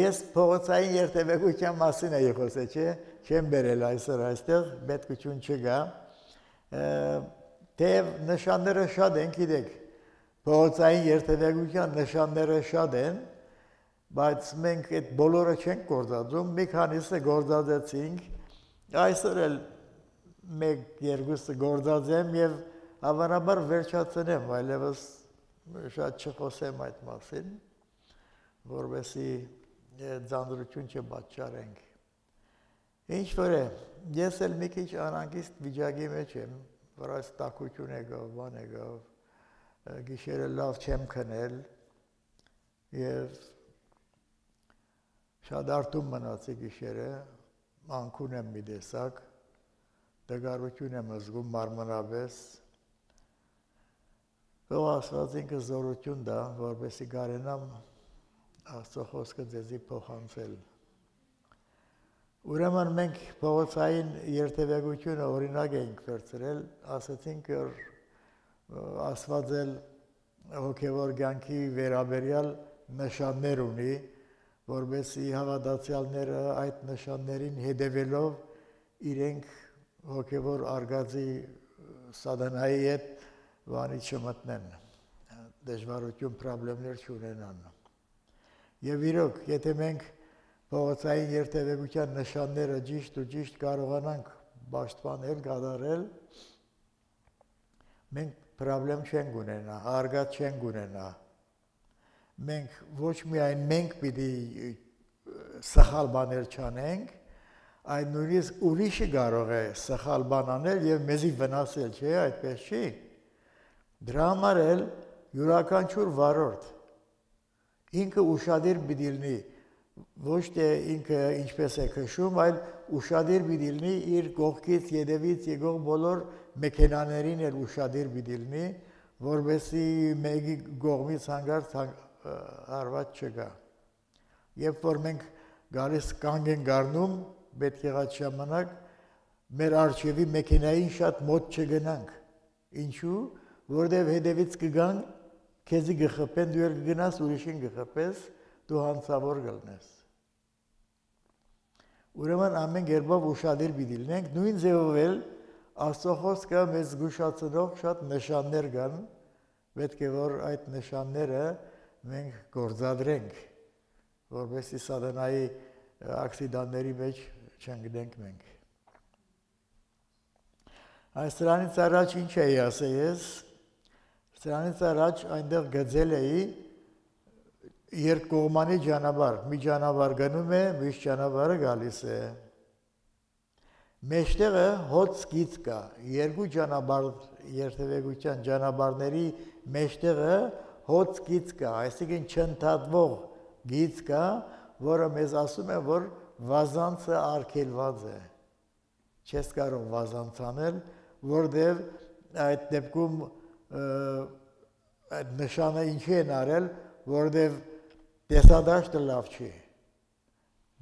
ես փողոցային երթևեկության մասին էի խոսել, չէ՞, չեմ բերել այսօր այստեղ, պետքություն չկա։ Թեև նշանները շատ են, գիտեք, փողոցային երթևեկության նշանները շատ են, բայց մենք այդ բոլորը չենք գործածում, մի քանիսը գործածեցինք, այսօր էլ մեկ-երկուսը գործածեմ եւ հավանաբար վերջացնեմ, այլևս շատ չխոսեմ այդ մասին, որովհետեւ ձանձրություն չպատճառենք։ Ինչ որ է, ես էլ մի քիչ անհանգիստ վիճակի մեջ եմ, որ այս տաքություն եկավ, բան եկավ, գիշերը լավ չեմ քնել եւ շատ արտում մնացի գիշերը, անկուն եմ մի տեսակ, դժգարություն եմ զգում մարմնապես, Ով ասված ինքը զորություն դա, որպեսի կարենամ Աստծո խոսքը ձեզի փոխանցել։ Ուրեմն մենք փողոցային երթևեկությունը օրինակ ենք վերցրել, ասացինք, որ Աստված էլ հոգևոր կյանքի վերաբերյալ նշաններ ունի, որպեսի հավատացյալները այդ նշաններին հետևելով իրենք հոգևոր արգածի սատանայի հետ վանի չմտնեն, դժվարություն, պրոբլեմներ չունենան։ Եվ իրոք, եթե մենք փողոցային երթևեկության նշանները ճիշտ ու ճիշտ կարողանանք պաշտպանել, կատարել, մենք պրոբլեմ չենք ունենա, արգած չենք ունենա։ Մենք ոչ միայն մենք պիտի սխալ բաներ չանենք, այլ նույնիսկ ուրիշը կարող է սխալ բան անել եւ մեզի վնասել, չէ՞, այդպես չի։ Դրա համար էլ յուրաքանչյուր վարորդ ինքը ուշադիր պիտի լինի, ոչ թե ինքը ինչպես է քշում, այլ ուշադիր պիտի լինի իր կողքից ետևից եկող բոլոր մեքենաներին էլ ուշադիր պիտի լինի, որովհետեւ մեկի կողմից հանգարց հարված չկա։ Երբ որ մենք գալիս կանգ ենք առնում, պետք եղած ժամանակ մեր արջևի մեքենային շատ մոտ չգնանք։ Ինչու՞, որտեղ հետևից կգան, քեզի գխփեն, դու կգնաս ուրիշին գխփես, դու հանցավոր կլնես։ Ուրեմն ամեն կերպով ուշադիր պիտի լինենք, նույն ձևով էլ Աստծո խոսքը մեզ զգուշացնող շատ նշաններ կան, պետք է որ այդ նշանները մենք գործադրենք, որպեսզի սատանայի ակսիդանտների մեջ չընկնենք մենք։ Այս դրանից առաջ ինչ էի ասել ես, դրանից առաջ այնտեղ գծել էի երկկողմանի ճանապարհ, մի ճանապարհ գնում է, մյուս ճանապարհը գալիս է։ Մեջտեղը հոծ գիծ կա, երկու ճանապարհ երթևեկության ճանապարհների մեջտեղը հոծ գիծ կա, այսինքն չընդհատվող գիծ կա, որը մեզ ասում է, որ վազանցը արգելված է։ Չես կարող վազանց անել, որտեղ այդ դեպքում այդ նշանը ինչի են արել, որտեղ տեսադաշտը լավ չի։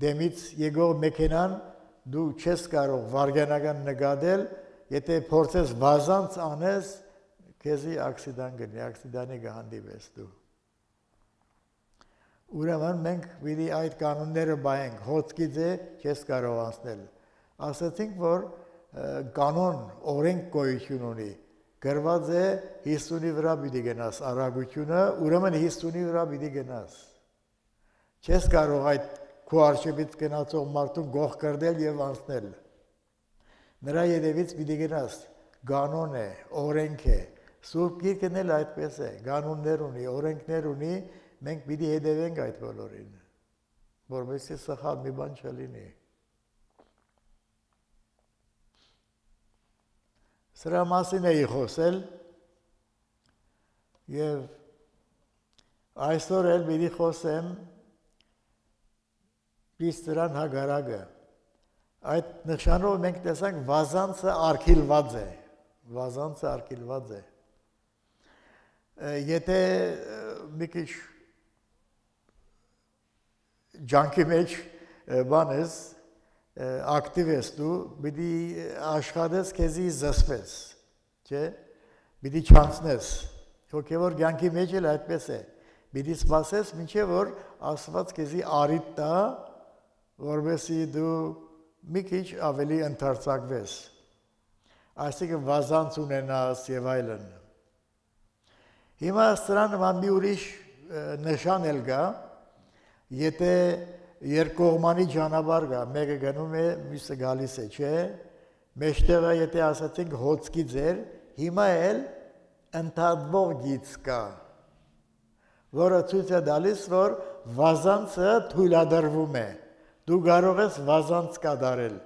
Դեմից եկող մեքենան դու չես կարող վարգանական նկատել, եթե փորձես վազանց անես, քեզի ակսիդան գնի, ակսիդանի կհանդիպես դու։ Ուրեմն մենք պիտի այդ կանոնները բայենք, հոծկից է չես կարող անցնել։ Ասացինք, որ կանոն, օրենք գոյություն ունի, գրված է 50-ի վրա պիտի գնաս արագությունը, ուրեմն 50-ի վրա պիտի գնաս։ Չես կարող այդ քո արջևից գնացող մարդուն գող կրդել եւ անցնել։ Նրա ետևից պիտի գնաս, կանոն է, օրենք է։ Սուրբ Գիրքն էլ այդպես է, կանոններ ունի, օրենքներ ունի, մենք պիտի հետևենք այդ բոլորին, որովհետեւ սխալ մի բան չլինի։ Սրա մասին էի խոսել եւ այսօր էլ պիտի խոսեմ իսկ դրան հագարակը։ Այդ նշանով մենք տեսանք վազանցը արգելված է, վազանցը արգելված է։ Եթե մի քիչ ջանքի մեջ բան ես, ակտիվ ես դու, պիտի աշխատես քեզի զսպես, չէ՞, պիտի չանցնես։ Հոգևոր կյանքի մեջ էլ այդպես է։ Պիտի սպասես մինչև որ Աստված քեզի արիտ տա, որովհետեւ դու մի քիչ ավելի ընդարձակվես։ Այսինքն վազանց ունենաս եւ այլն։ Հիմա սրան մի ուրիշ նշան էլ կա, եթե երկկողմանի ճանապարհ կա, մեկը գնում է, մյուսը գալիս է, չէ՞։ Մեջտեղը եթե ասացինք հոցքի ձեր, հիմա էլ ընդհատվող գիծ կա, որը ցույց է տալիս, որ վազանցը թույլատրվում է։ Դու կարող ես վազանց կատարել,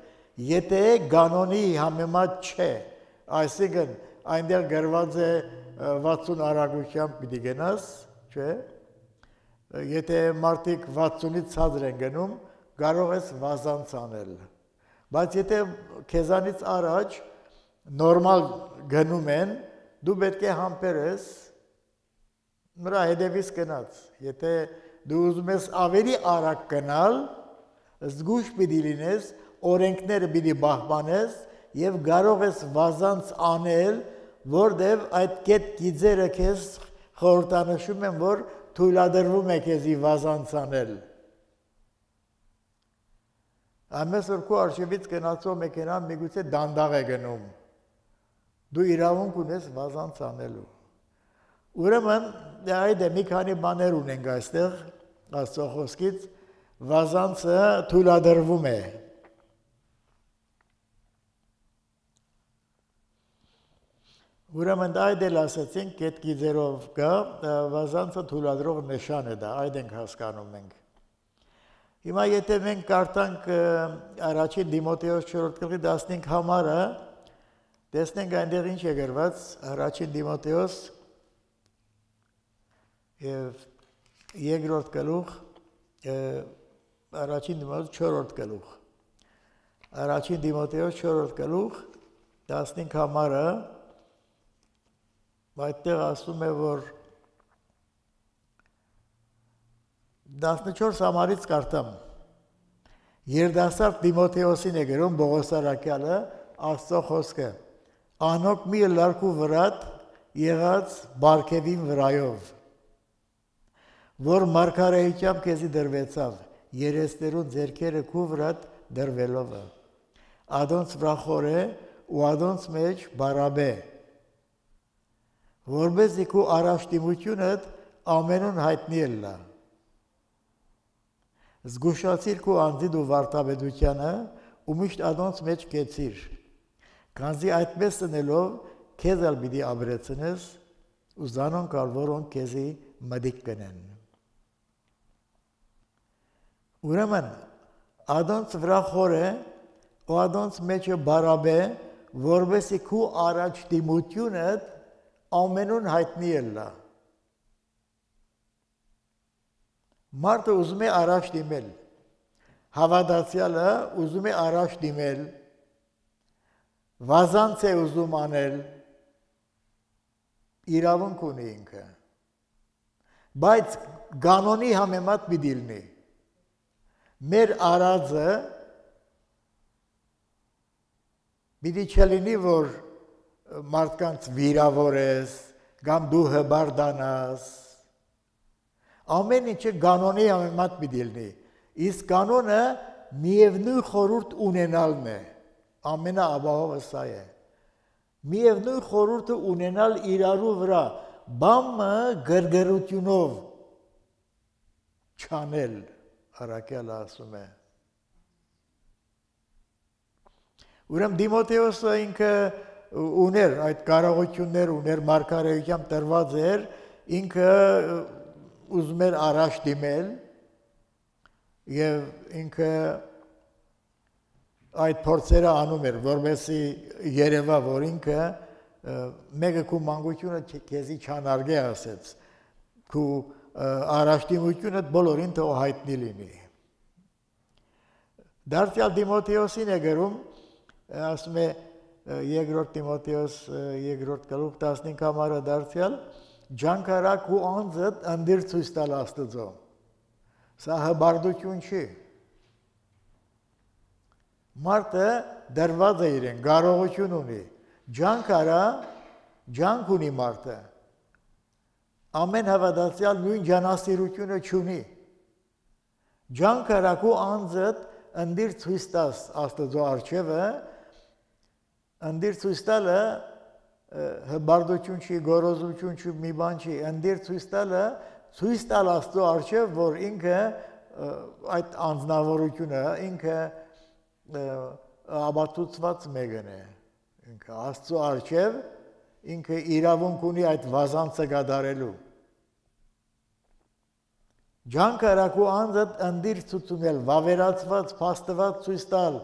եթե կանոնի համեմատ չէ, այսինքն այնտեղ գրված է 60 արագությամբ պիտի գնաս, չէ՞։ Եթե մարդիկ 60-ից ցածր են գնում, կարող ես վազանց անել։ Բայց եթե քեզանից առաջ նորմալ գնում են, դու պետք է համբերես նրա հետևից գնաց։ Եթե դու ուզում ես ավելի արագ գնալ, զգույշ պիտի լինես, օրենքները պիտի պահպանես եւ կարող ես վազանց անել, որտեւ այդ կետ գիծերը քեզ խորհրդանշում են, որ թույլատրվում է քեզի վազանց անել։ Ամենս որ քո արժևից գնացող մեքենան միգուցե դանդաղ է գնում։ Դու իրավունք ունես վազանց անելու։ Ուրեմն այդ մի քանի բաներ ունենք այստեղ Աստծո խոսքից, վազանցը թույլատրվում է։ Ուրեմն այդ էլ ասացինք, կետ գիծերով կա, վազանցը թույլատրող նշան է դա, այդ ենք հասկանում մենք։ Հիմա եթե մենք կարդանք առաջին Դիմոթեոս 4:15 համարը, տեսնենք այնտեղ ինչ է գրված, առաջին Դիմոթեոս եւ երկրորդ գլուխ, առաջին Դիմոթեոս 4-րդ գլուխ։ Առաջին Դիմոթեոս 4-րդ գլուխ 15 համարը այդտեղ ասում է, որ 14 համարից կարդամ։ Երդասարդ Դիմոթեոսին է գրում Պողոս առաքյալը Աստծո խոսքը։ Անոք մի լարկու վրատ եղած բարգևին վրայով, որ մարգարեությամբ քեզի դրվեցավ, երեսներուն ձերքերը քու վրատ դրվելով։ Ադոնց վրախորե ու ադոնց մեջ բարաբե, որբեսի քու առաջտիմությունդ ամենուն հայտնի ելլա։ Զգուշացիր քու անձիդ ու վարդապետությանը ու միշտ ադոնց մեջ կեցիր, քանզի այդպես տնելով քեզ ալ պիտի ապրեցնես ու զանոն կալ, որոնք քեզի մդիկ կնեն։ Ուրեմն ադոնց վրա խորե ու ադոնց մեջը բարաբե, որբեսի քու առաջտիմությունդ ամենուն հայտնի ելլա։ Մարդը ուզում է առաջ դիմել, հավատացյալը ուզում է առաջ դիմել, վազանց է ուզում անել, իրավունք ունի ինքը, բայց կանոնի համեմատ պիտի լինի։ Մեր արածը պիտի չլինի, որ մարդկանց վիրավորես, կամ դու հբար դանաս, ամեն ինչը կանոնի համեմատ պիտի լինի, իսկ կանոնը միևնույն խորհուրդ ունենալն է, ամենաապահովը սա է, միևնույն խորհուրդը ունենալ իրարու վրա, բամը գրգռությունով չանել, առաքյալը ասում է։ Ուրեմն Դիմոթեոսը ինքը ուներ այդ կարողություններ, ուներ մարգարեությամբ տրված էր, ինքը ուզում էր առաջ դիմել եւ ինքը այդ փորձերը անում էր, որովհետեւ երևա, որ ինքը մեկը քու մանկությունը քեզի չանարգե ասեց, քու առաջդիմությունը բոլորին թող հայտնի լինի։ Դարձյալ Դիմոթեոսին է գրում, ասում է երկրորդ Տիմոթեոս երկրորդ գլուխ 15 համարը դարձյալ, ջանքարակ ու անձդ անդիր ցույց տալ Աստծո։ Սա հբարդություն չի։ Մարդը դրված է իրեն, կարողություն ունի, ջանք արա, ջանք ունի մարդը, ամեն հավատացյալ նույն ջանասիրությունը չունի։ Ջանքարակու անձդ ընդիր ցույց տաս Աստծո առջևը, ընդիր ցույց տալը հբարդություն չի, գորոզություն չի, մի բան չի, ընդիր ցույց տալը ցույց տալ Աստծո առջև, որ ինքը այդ անձնավորությունը ինքը աբացուցված մեկն է, ինքը Աստծո առջև ինքը իրավունք ունի այդ վազանցը գադարելու։ Ջանքարակու անձդ ընդիր ցուցունել, վավերացված, փաստված ցույց տալ,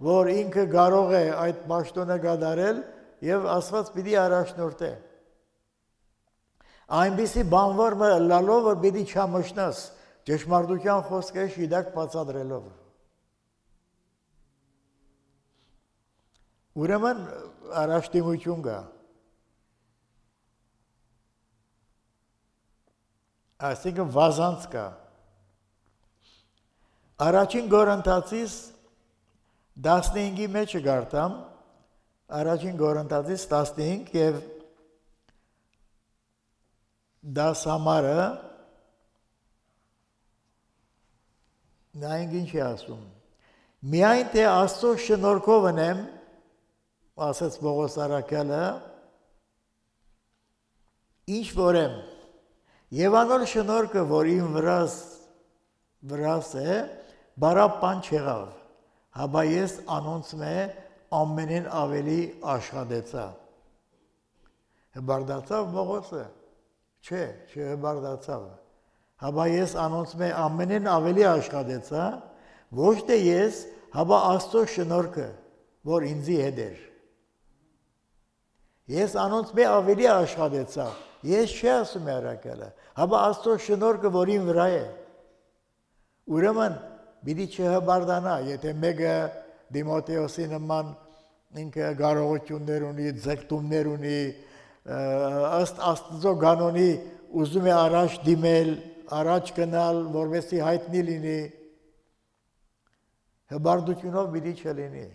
որ ինքը կարող է այդ պաշտոնը գադարել եւ Աստված պիտի առաջնորդե։ Այնպիսի բանվոր լալով, որ պիտի չամշնաս, ճշմարտության խոսքը շիդակ բացատրելով։ Ուրեմն առաջդիմություն կա։ Այսինքն վազանց կա։ Առաջին Կորինթացիս 15-ի մեջ գարտամ, առաջին Կորինթացիս 15 եւ 10 համարը նայենք ինչ է ասում։ Միայն թե Աստծո շնորհքով եմ, ասաց Պողոս առաքյալը, ինչ որ եմ, եւ անոր շնորհքը, որ իմ վրաս է, բարապ բան չեղավ, հաբա ես անոնց մե ամենեն ավելի աշխատեցա։ Հբարդացավ Պողոսը, չէ, չհբարդացավ, հաբա ես անոնց մե ամենեն ավելի աշխատեցա, ոչ թե ես, հաբա Աստծո շնորհքը, որ ինձի հետ էր։ Ես անոնց մե ավելի աշխատեցա, ես չի ասում է առաքյալը, հաբա Աստծո շնորհքը, որ իմ վրա է։ Ուրեմն պիտի չհբարդանա, եթե մեկը Դիմոթեոսի նման ինքը կարողություններ ունի, ձգտումներ ունի, ըստ Աստծո կանոնի ուզում է առաջ դիմել, առաջ գնալ, որովհետեւ հայտնի լինի, հբարդությունով պիտի չլինի։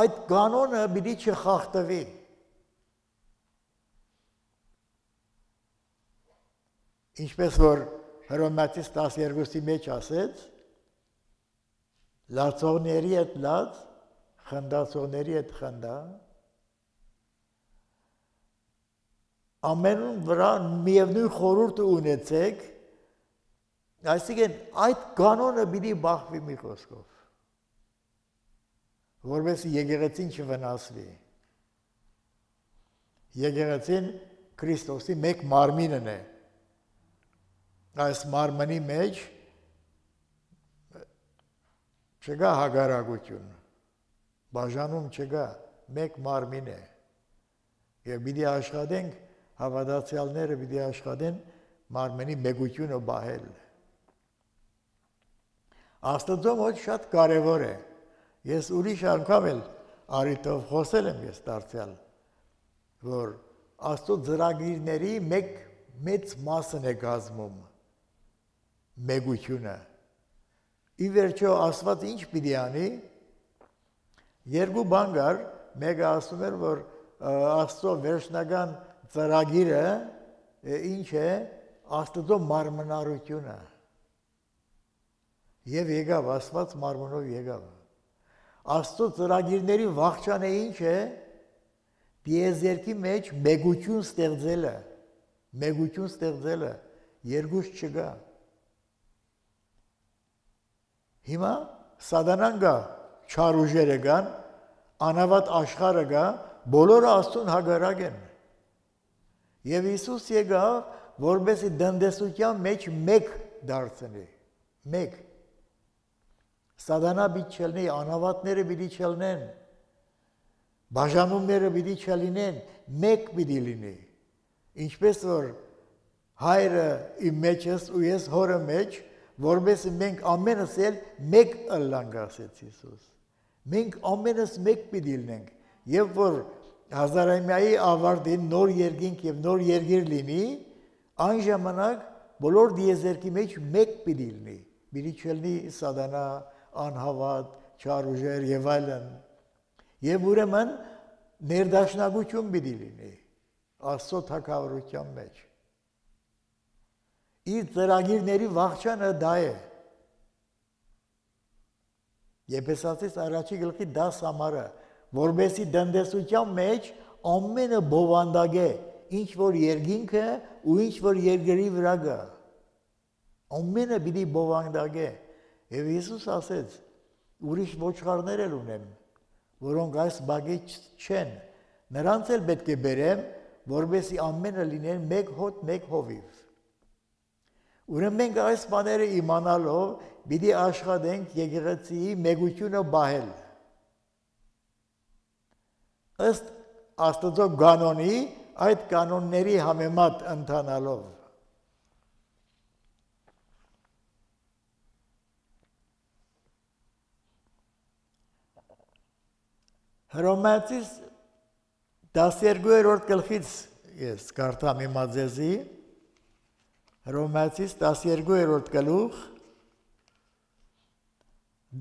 Այդ կանոնը պիտի չխախտվի։ Ինչպես որ Հռոմեացիս 12-ի մեջ ասեց, լացողների հետ լաց, խնդացողների հետ խնդա, ամենուն վրա միևնույն խորհուրդը ունեցեք, այսինքն այդ կանոնը պիտի բախվի մի խոսքով, որովհետեւ եկեղեցին չվնասվի։ Եկեղեցին Քրիստոսի մեկ մարմինն է։ Այս մարմնի մեջ չկա հագարակություն, բաժանում չկա, մեկ մարմին է։ Եվ պիտի աշխատենք, հավատացյալները պիտի աշխատեն մարմնի մեգությունը բահել։ Աստծո մոտ շատ կարևոր է։ Ես ուրիշ անգամ էլ արիտով խոսել եմ ես դարձյալ, որ Աստծո ծրագիրների մեծ մասն է կազմում մեգությունը։ Ի վերջո Աստված ինչ պիտի անի։ Երկու բան կար, մեկը ասում էր, որ Աստծո վերջնական ծրագիրը ինչ է, Աստծո մարմնարությունը։ Եվ եկավ, Աստված մարմնով եկավ։ Աստծո ծրագիրների վախճանը ինչ է, դիեզերքի մեջ մեգություն ստեղծելը, երկուս չկա։ Հիմա սատանան կա, չար ուժերը կան, անավատ աշխարհը կա, բոլորը Աստծուն հակառակ են։ Եվ Հիսուս եկավ, որպեսզի դնդեսության մեջ մեկ դարձնի, մեկ։ Սատանա պիտի չլինի, անավատները պիտի չլինեն, բաժանումները պիտի չլինեն, մեկ պիտի լինի։ Ինչպես որ հայրը իմ մեջ ես ու ես հորը մեջ, որովհետեւ մենք ամենս էլ մեկ ըլլանք, ասեց Հիսուս։ Մենք ամենս մեկ պիտի լինենք, եւ որ հազարամյայի ավարտին նոր երկինք եւ նոր երկիր լինի, այն ժամանակ բոլոր դիեզերքի մեջ մեկ պիտի լինի։ Պիտի չլինի սատանա, անհավատ, չար ուժեր եւ այլն։ Եվ ուրեմն ներդաշնակություն պիտի լինի Աստծո թագավորության մեջ։ իր ծրագիրների վախճանը դա է։ Եփեսացիս առաջի գլխի 10 համարը, որբեսի դնդեսության մեջ ամենը բովանդակ է, ինչ որ երկինքը ու ինչ որ երկրի վրա գա։ Ամենը պիտի բովանդակ է։ Եվ Հիսուս ասեց. ուրիշ ոչխարներ էլ ունեմ, որոնք այս բագի չեն, նրանց էլ պետք է բերեմ, որբեսի ամենը լինեն մեկ հոտ, մեկ հովիվ։ Ուրեմն մենք այս բաները իմանալով պիտի աշխատենք եկեղեցիի մեգությունը բահել։ Ըստ Աստծո կանոնի, այդ կանոնների համեմատ ընթանալով։ Հռոմեացիս 12-րդ գլխից ես կարդամ հիմա ձեզի, Հռոմեացիս 12-րդ գլուխ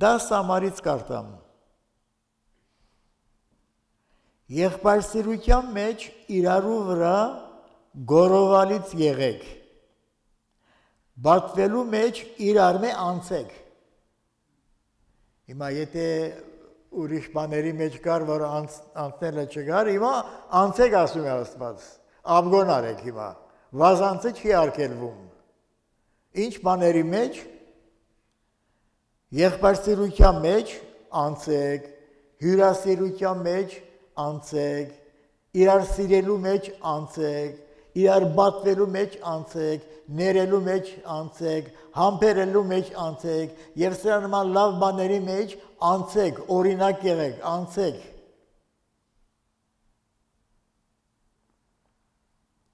10 համարից կարդամ։ Եղբայրսիրության մեջ իրարու վրա գորովալից եղեք, բատվելու մեջ իրար մե անցեք։ Հիմա եթե ուրիշ բաների մեջ կար, որ անցնելը չկար, հիմա անցեք ասում է Աստված, աբգոն արեք հիմա, վազանցը չի արգելվում։ Ինչ բաների մեջ, եղբայրսիրության մեջ անցեք, հյուրասիրության մեջ անցեք, իրար սիրելու մեջ անցեք, իրար բատվելու մեջ անցեք, ներելու մեջ անցեք, համբերելու մեջ անցեք, եւ սրա նման լավ բաների մեջ անցեք, օրինակ եղեք, անցեք։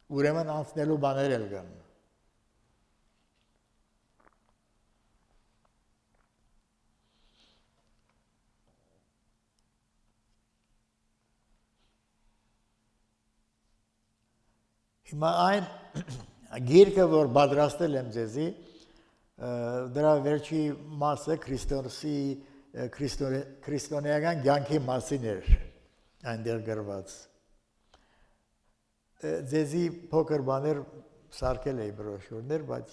Ուրեմն անցնելու բաներ էլ կան։ Հիմա այն գիրքը, որ պատրաստել եմ ձեզի, դրա վերջի մասը քրիստոնեական կյանքի մասին էր այնտեղ գրված։ Ձեզի փոքր բաներ սարքել էի բրոշյուրներ, բայց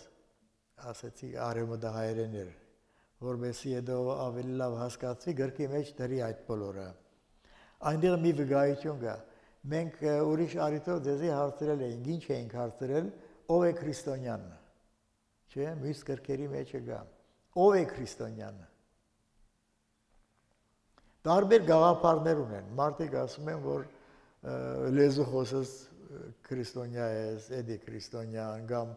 ասեցի արևմտահայերեն էր, որովհետեւ հետո ավելի լավ հասկացվի գրքի մեջ դրի այդ բոլորը։ Այնտեղ մի վկայություն կա։ Մենք ուրիշ առիթով ձեզի հարցրել էինք, ինչ էինք հարցրել, ով է քրիստոնյան, չէ, մյուս գրքերի մեջ կա, ով է քրիստոնյան։ Տարբեր գաղափարներ ունեն, մարդիկ ասում են, որ լեզու խոսես քրիստոնյա ես, էդի քրիստոնյան, կամ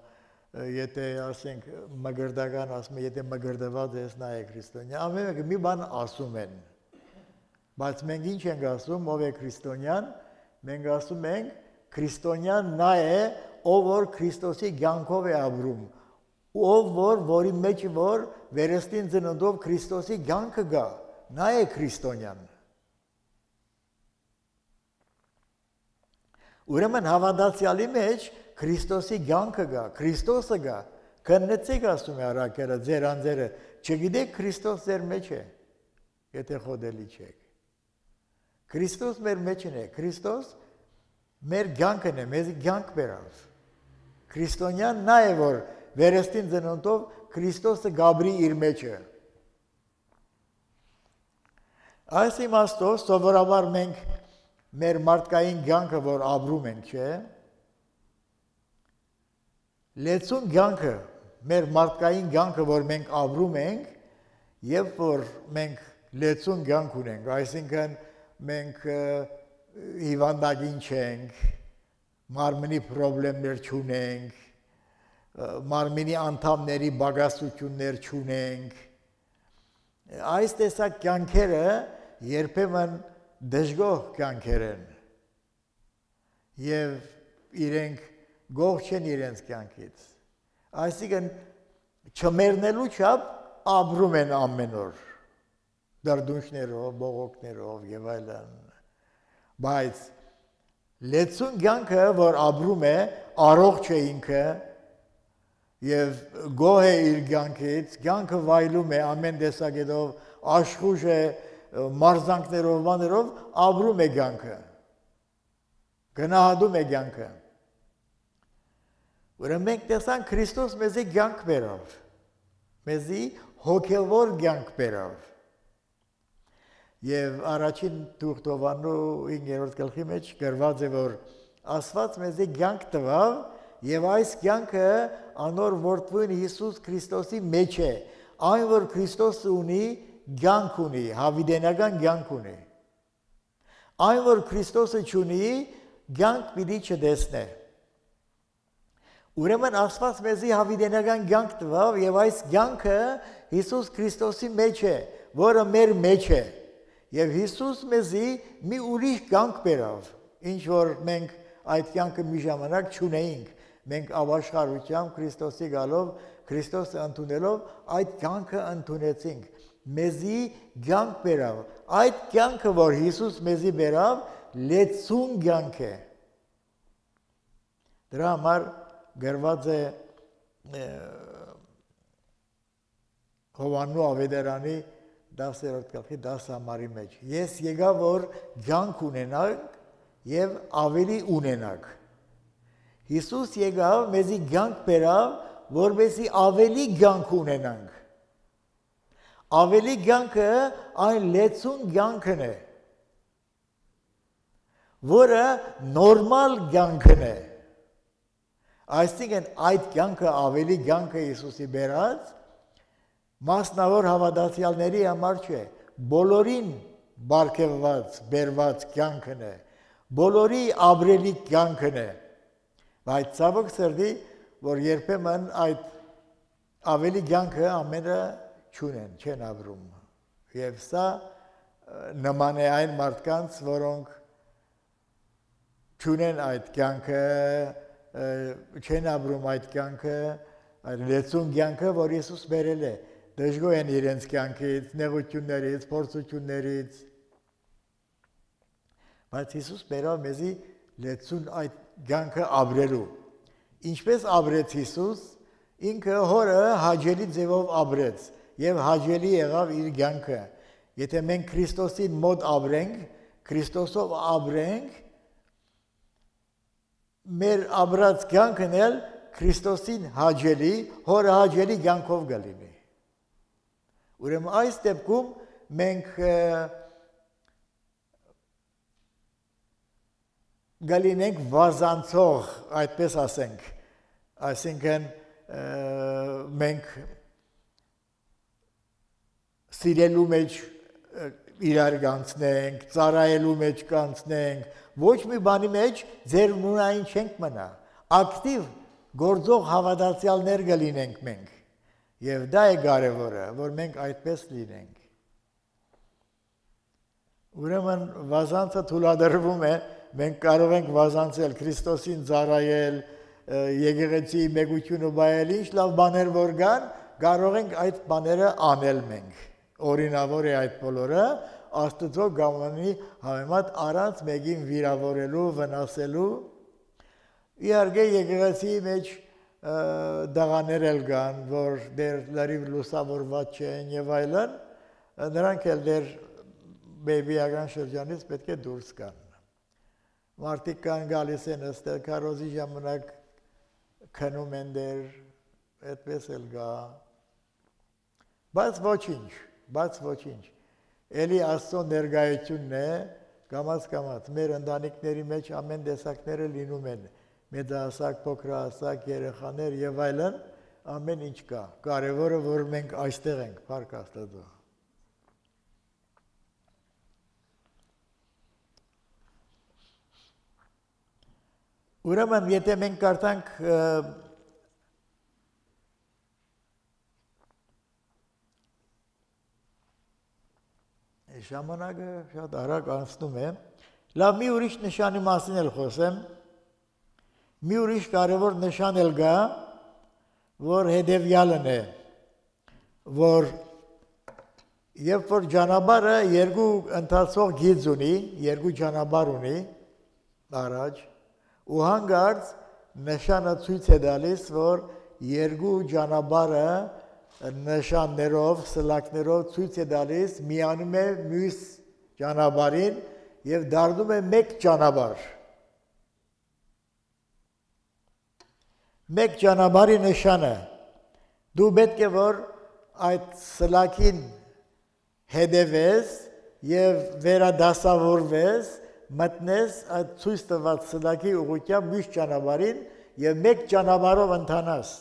եթե ասենք մգրդական ասում են, եթե մգրդված ես, նա է քրիստոնյա, ամեն մեկը մի բան ասում են, բայց մենք ինչ ենք ասում, ով է քրիստոնյան, մենք ասում ենք, քրիստոնյան նա է, ով որ Քրիստոսի կյանքով է ապրում, ով որի մեջ որ վերստին ծննդով Քրիստոսի կյանքը գա, նա է քրիստոնյան։ Ուրեմն հավատացյալի մեջ Քրիստոսի կյանքը գա, Քրիստոսը գա, քննեցեք ասում է առաքելը, ձեր անձերը, չգիտեք Քրիստոս ձեր մեջ է, եթե խոդելի չեք։ Քրիստոս մեր մեջն է, Քրիստոս մեր կյանքն է, մեզ կյանք բերավ։ Քրիստոնյան նա է, որ վերստին ծննդով Քրիստոսը գաբրի իր մեջը։ Այս իմաստով սովորաբար մենք մեր մարդկային կյանքը, որ ապրում ենք, չէ, լեցուն կյանքը, մեր մարդկային կյանքը, որ մենք ապրում ենք, եւ որ մենք լեցուն կյանք ունենք, այսինքն մենք հիվանդագին չենք, մարմնի պրոբլեմներ չունենք, մարմնի անդամների բագասություններ չունենք, այս տեսակ կյանքերը երբեմն դժգոհ կյանքեր են եւ իրենք գող չեն իրենց կյանքից, այսինքն չմեռնելու չափ ապրում են ամեն օր, դարդունչներով, բողոքներով եւ այլն, բայց լեցուն կյանքը, որ ապրում է, առողջ է ինքը եւ գոհ է իր կյանքից, կյանքը վայելում է ամեն տեսակետով, աշխուժ է, մարզանքներով, բաներով ապրում է կյանքը, գնահատում է կյանքը։ Ուրեմն մենք տեսանք Քրիստոս մեզի կյանք բերավ, մեզի հոգևոր կյանք բերավ։ Եվ առաջին Թուղթովանու 5-րդ գլխի մեջ գրված է, որ Աստված մեզի կյանք տվավ, եւ այս կյանքը անոր որդուն Հիսուս Քրիստոսի մեջ է, այն որ Քրիստոսը ունի, կյանք ունի, հավիտենական կյանք ունի։ Այն որ Քրիստոսը չունի, կյանք պիտի չտեսնե։ Ուրեմն Աստված մեզի հավիտենական կյանք տվավ եւ այս կյանքը Հիսուս Քրիստոսի մեջ է, որը մեր մեջ է։ Եվ Հիսուս մեզի մի ուրիշ կյանք բերավ, ինչ որ մենք այդ կյանքը մի ժամանակ չունեինք։ Մենք ավաշխարությամբ Քրիստոսի գալով, Քրիստոսը ընդունելով այդ կյանքը ընդունեցինք։ Մեզի կյանք բերավ։ Այդ կյանքը, որ Հիսուս մեզի բերավ, լեցուն կյանք է։ Դրա համար գրված է Հովաննու ավետարանի 10-րդ գլխի 10 համարի մեջ։ Ես եկա, որ կյանք ունենանք եւ ավելի ունենանք։ Հիսուս եկավ, մեզի կյանք բերավ, որպեսզի ավելի կյանք ունենանք։ Ավելի կյանքը այն լեցուն կյանքն է, որը նորմալ կյանքն է։ Այսինքն այդ կյանքը ավելի կյանքը Հիսուսի բերած մասնավոր հավատացյալների համար չէ, բոլորին բարգեւված, բերված կյանքն է, բոլորի ապրելի կյանքն է։ Բայց ցավոք սրտի, որ երբեմն այդ ավելի կյանքը ամենը չունեն, չեն ապրում։ Եվ սա նման է այն մարդկանց, որոնք չունեն այդ կյանքը, չեն ապրում այդ կյանքը, այդ լեցուն կյանքը, որ Հիսուս բերել է, դժգոհ են իրենց կյանքից, նեղություններից, փորձություններից։ Բայց Հիսուս բերավ մեզի լեցուն այդ կյանքը ապրելու։ Ինչպես ապրեց Հիսուս, ինքը հորը հաճելի ձևով ապրեց եւ հաճելի եղավ իր կյանքը։ Եթե մենք Քրիստոսին մոտ ապրենք, Քրիստոսով ապրենք, մեր ապրած կյանքն էլ Քրիստոսին հաճելի, հորը հաճելի կյանքով կլինի։ Ուրեմն այս դեպքում մենք գալինենք վազանցող, այդպես ասենք, այսինքն մենք սիրելու մեջ իրար կանցնենք, ծառայելու մեջ կանցնենք, ոչ մի բանի մեջ ձեր նույնային չենք մնա, ակտիվ գործող հավատացյալներ կլինենք մենք, եւ դա է կարևորը, որ մենք այդպես լինենք։ Ուրեմն վազանցը թույլատրվում է, մենք կարող ենք վազանցել Քրիստոսին ծառայել, եկեղեցի մեգությունը բայել, ինչ լավ բաներ որ կան, կարող ենք այդ բաները անել մենք։ Օրինավոր է այդ բոլորը, Աստծո գամանի համեմատ առանց մեկին վիրավորելու, վնասելու։ Իհարկե եկեղեցի մեջ դղաներ էլ կան, որ դեր լրիվ լուսավորված չեն եւ այլն, նրանք էլ դեր բեբիական շրջանից պետք է դուրս գան։ Մարդիկ կան գալիս են ըստեղ քարոզի ժամանակ քնում են դեր, այդպես էլ գա։ Բայց ոչինչ։ Էլի Աստծո ներկայությունն է, կամաց, մեր ընտանիքների մեջ ամեն տեսակները լինում են, մեծահասակ, փոքրահասակ, երեխաներ եւ այլն, ամեն ինչ կա։ Կարևորը որ մենք այստեղ ենք, փառք Աստծո։ Ուրեմն եթե մենք կարդանք ժամանակը շատ արագ անցնում է, լավ մի ուրիշ նշանի մասին էլ խոսեմ, մի ուրիշ կարևոր նշան էլ կա, որ հետևյալն է, որ երբ որ ճանապարհը երկու ընթացող գիծ ունի, երկու ճանապարհ ունի առաջ, ու հանկարծ նշանը ցույց է տալիս, որ երկու ճանապարհը նշաններով, սլակներով ցույց է տալիս, միանում է մյուս ճանապարհին եւ դառնում է մեկ ճանապարհ։ մեկ ճանապարհի նշանը դու պետք է որ այդ սլակին հետևես եւ վերադասավորվես մտնես այդ ցույց տված սլակի ուղղությամբ մյուս ճանապարհին եւ մեկ ճանապարհով ընթանաս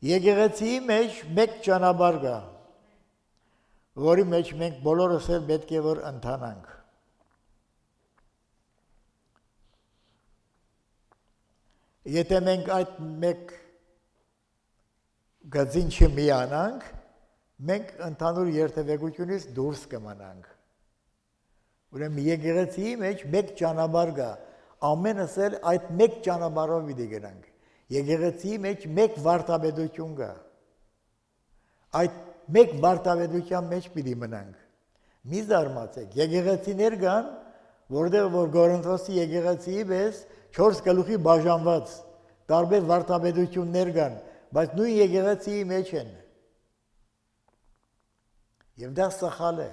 եկեղեցիի մեջ մեկ ճանապարհ կա որի մեջ մենք բոլորս էլ պետք է որ ընթանանք եթե մենք այդ մեկ գծին չմիանանք մենք ընդհանուր երթևեկությունից դուրս կմնանք ուրեմն եկեղեցիի մեջ մեկ ճանապարհ կա ամենս էլ այդ մեկ ճանապարհով պիտի գնանք եկեղեցիի մեջ մեկ վարդապետություն կա այդ մեկ վարդապետության մեջ պիտի մնանք մի զարմացեք եկեղեցիներ կան որտեղ որ Գորընթոսի եկեղեցիի պես 4 գլուխի բաժանված տարբեր վարդապետություններ կան բայց նույն եկեղեցիի մեջ են եւ դա սխալ է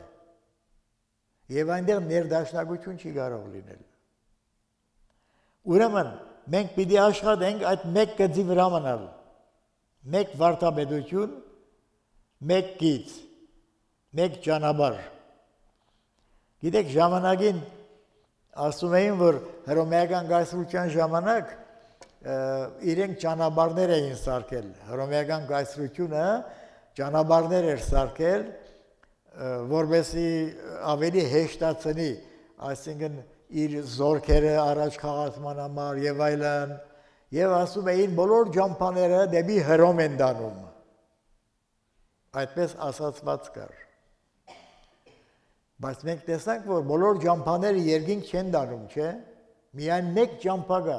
եւ այնտեղ ներդաշնակություն չի կարող լինել ուրեմն մենք պիտի աշխատենք այդ մեկ գծի վրա մնալ մեկ վարդապետություն մեկ գիծ մեկ ճանապարհ գիտեք ժամանակին ասում էին որ հռոմեական կայսրության ժամանակ իրենք ճանապարհներ էին սարքել հռոմեական կայսրությունը ճանապարհներ էր սարքել որովհետեւ ավելի հեշտացնի այսինքն իր զորքերը առաջ խաղացման համար եւ այլն եւ ասում էին բոլոր ջամփաները դեպի Հռոմ են դանում այդպես ասացված կար բայց մենք տեսանք որ բոլոր ջամփաները երկինք չեն դանում չէ միայն մեկ ջամփա կա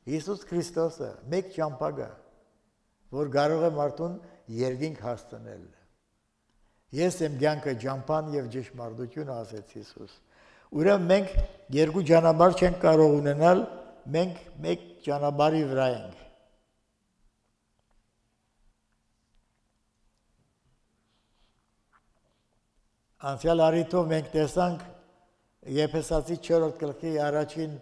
Հիսուս Քրիստոսը մեկ ջամփա կա որ կարող է մարդուն երկինք հասցնել ես եմ կյանքը ջամփան եւ ճշմարտությունը ասեց Հիսուս ուրեմն մենք երկու ճանապարհ չենք կարող ունենալ մենք մեկ ճանապարհի վրա ենք Անցյալ առիթով մենք տեսանք Եփեսացի 4-րդ գլխի առաջին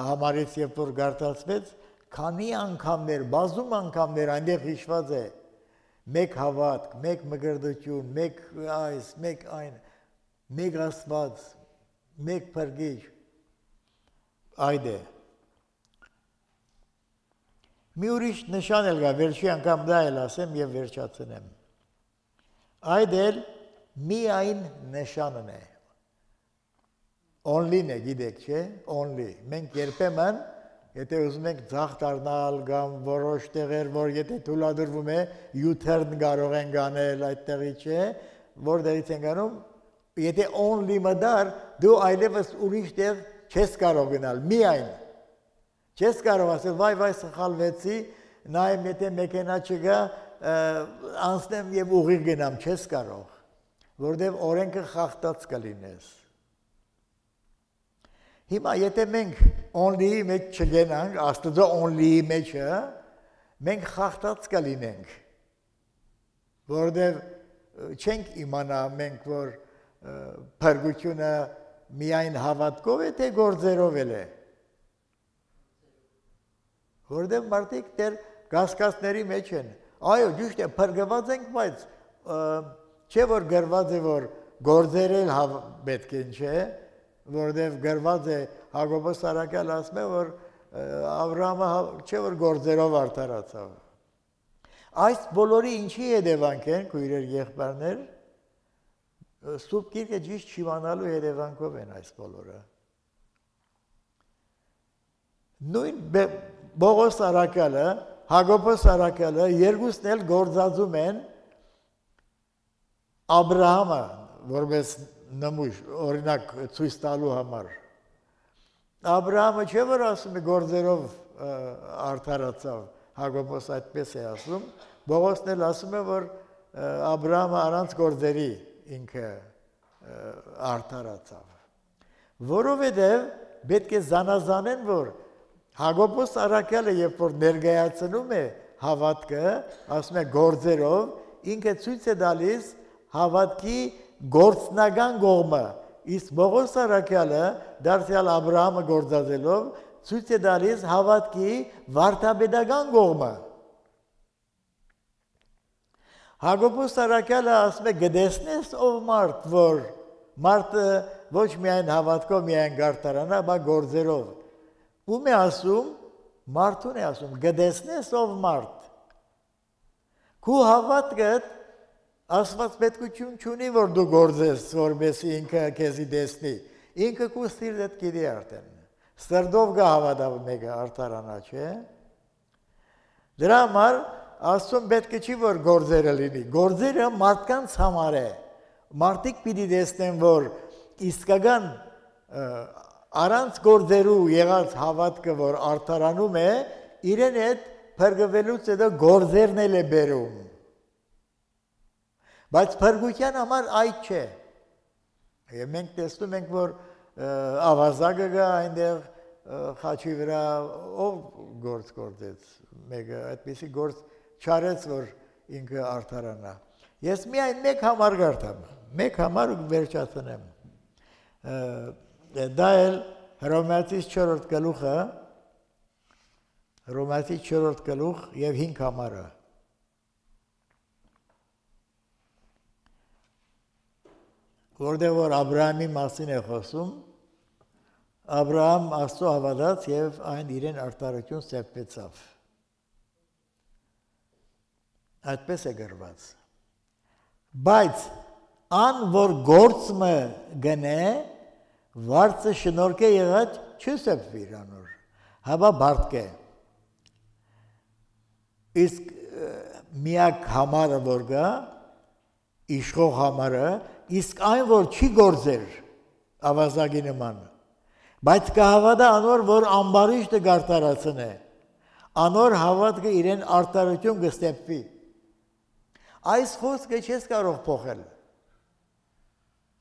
համարից երբ որ գարտացվեց քանի անգամներ բազում անգամներ այնտեղ հիշված է մեկ հավատք, մեկ մկրտություն, մեկ այս, մեկ այն, մեկ Աստված, մեկ փրկիչ այդ է մի ուրիշ նշան էլ կա վերջի անգամ դա էլ ասեմ եւ վերջացնեմ այդ էլ միայն նշանն է only-ն է գիտեք չէ only մենք երբեմն եթե ուզում ենք ձախ դառնալ կամ որոշ տեղեր որ եթե թույլատրվում է U-turn կարող են գանել այդտեղի չէ որտեղից են գանում եթե only մդար դու այլևս ուրիշ տեղ չես կարող գնալ միայն չես կարող ասել վայ սխալվեցի նայեմ եթե մեքենա չգա անցնեմ եւ ուղիղ գնամ չես կարող որտեղ օրենքը խախտած կլինես հիմա եթե մենք only-ի մեջ չգնանք աստծո only-ի մեջը մենք խախտած կլինենք որտեղ չենք իմանա մենք որ փրկությունը միայն հավատքով է թե գործերով է որտեղ մարդիկ դեռ գասկածների մեջ են այո ճիշտ է փրկված ենք բայց չէ որ գրված է որ գործեր էլ պետք են չէ որտեղ գրված է Հակոբոս Արաքյալ ասում է որ Աբրահամը չէ որ գործերով արդարացավ այս բոլորի ինչի հետևանք են քույրեր եղբայրներ Սուրբ Գիրքը ճիշտ չիմանալու հետևանքով են այս բոլորը նույն Բողոս Արաքյալը Հակոբոս Արաքյալը երկուսն էլ գործածում են Աբրահամը որպես նմուշ օրինակ ցույց տալու համար Աբրահամը չէ որ ասում է գործերով արդարացավ Հակոբոս այդպես է ասում Բողոսն էլ ասում է որ Աբրահամը առանց գործերի ինքը արդարացավ որովհետև պետք է զանազանեն որ Հակոբոս Արաքյալը երբ որ ներկայացնում է հավատքը ասում է գործերով ինքը ցույց է տալիս հավատքի գործնական կողմը իսկ Բողոս Արաքյալը դարձյալ Աբրահամը գործածելով ցույց է տալիս հավատքի վարդապետական կողմը։ Հակոբոս Սարակյալը ասում է գտեսնես ով մարդ, որ մարդը ոչ միայն հավատքով միայն գարտարանա, բայց գործերով։ Ում է ասում, մարդուն է ասում, գտեսնես ով մարդ։ Քու հավատքդ Աստված պետքություն չունի, որ դու գործես, որպեսզի ինքը քեզի տեսնի։ Ինքը քու սիրտդ գիտի արդեն։ Սրտով գա հավատա մեկը արտարանա, չէ՞։ Դրա համար Աստծուն պետք է չի որ գործերը լինի։ Գործերը մարդկանց համար է։ Մարդիկ պիտի տեսնեն, որ իսկական առանց գործերու եղած հավատքը, որ արտարանում է, իրեն հետ փրկվելուց հետո գործերն էլ է բերում։ Բայց փրկության համար այդ չէ։ Եվ մենք տեսնում ենք, որ ավազակը գա այնտեղ խաչի վրա ով գործ գործեց, մեկը այդպիսի գործ չարեց, որ ինքը արդարանա։ Ես միայն մեկ համար գարտամ, մեկ համար ու վերջացնեմ։ Դա էլ Հռոմեացիս 4-րդ գլուխը, Հռոմեացիս 4-րդ գլուխ եւ 5 համարը։ Որտեղ որ Աբրահամի մասին է խոսում, Աբրահամ Աստծո հավատաց եւ այն իրեն արտարություն ստեղծավ։ Այդպես է գրված։ Բայց ան որ գործը գնե, վարձը շնորհք է եղած չսեպվի իրանոր, հավա բարտկե։ Իսկ միակ համարը որ գա, իշխող համարը, իսկ այն որ չի գործեր ավազագի նման, բայց կհավատա անոր որ ամբարիշտը գարտարացն է, անոր հավատքը իրեն արտարություն կստեպվի։ Այս խոսքը չես կարող փոխել։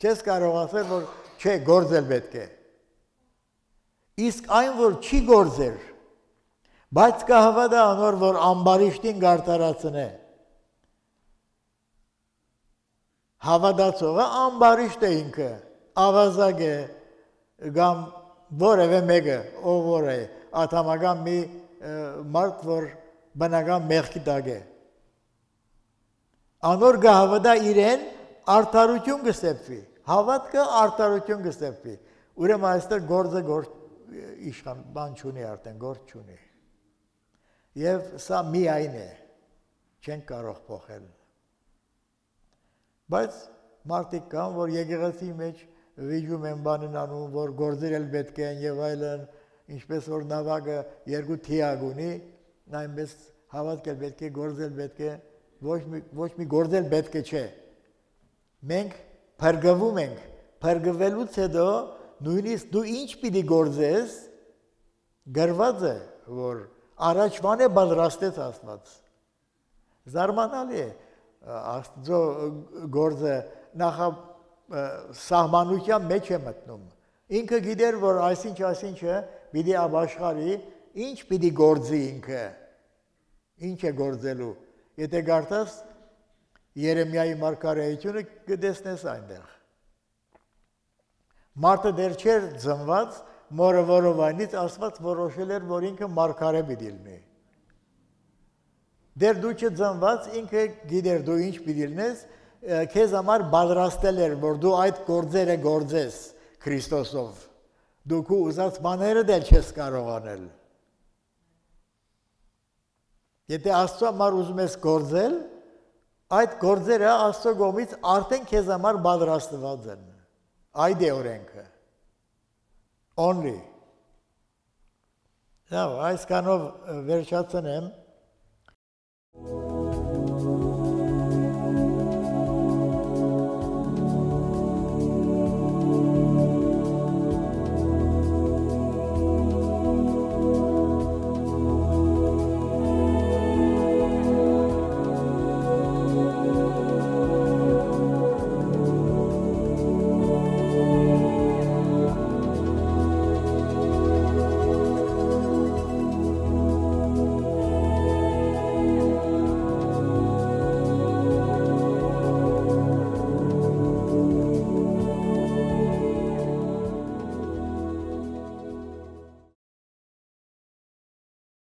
Չես կարող ասել, որ չէ, գործել պետք է։ Իսկ այն որ չի գործեր, բայց կհավատա անոր որ ամբարիշտին գարտարացն է, հավատացողը ամբարիշտ է ինքը, ավազակ է, կամ որևէ մեկը, ով որ է, ատամական մի մարդ, որ բնական մեղքի տակ է։ Անոր կհավատա իրեն արդարություն կստեղծվի, հավատքը արդարություն կստեղծվի։ Ուրեմն այստեղ գործը իշխան բան չունի արդեն, գործ չունի։ Եվ սա միայն է, չեն կարող փոխել։ Բայց մարդիկ կան, որ եկեղեցի մեջ վիճում են բանին անում, որ գործեր էլ պետք են եւ այլն, ինչպես որ նավակը երկու թիակ ունի, այնպես հավատք էլ պետք է, գործել պետք է, ոչ մի գործել պետք է չէ։ Մենք փրկվում ենք, փրկվելուց հետո նույնիսկ դու ինչ պիտի գործես, գրված է, որ առաջվան է պատրաստեց Աստված։ Զարմանալի է։ Աստծո գործը նախ սահմանության մեջ է մտնում։ Ինքը գիտեր, որ այսինչը պիտի ապաշխարի, ինչ պիտի գործի ինքը, ինչ է գործելու։ Եթե գարտաս Երեմիայի մարգարեությունը կտեսնես այնտեղ։ Մարդը դեռ չէր ծնված, մորը որովայնից Աստված որոշել էր, որ ինքը մարգարե պիտի լինի։ Դեր դու չծնված, ինքը գիտեր դու ինչ պիտի լինես, քեզ համար պատրաստել էր, որ դու այդ գործերը գործես Քրիստոսով։ Դու քո ուզած բաները դեռ չես կարող անել։ Եթե Աստծո համար ուզում ես գործել, այդ գործերը Աստծո կողմից արդեն քեզ համար պատրաստված են։ Այդ է օրենքը։ Only։ Այս կանով վերջացնեմ։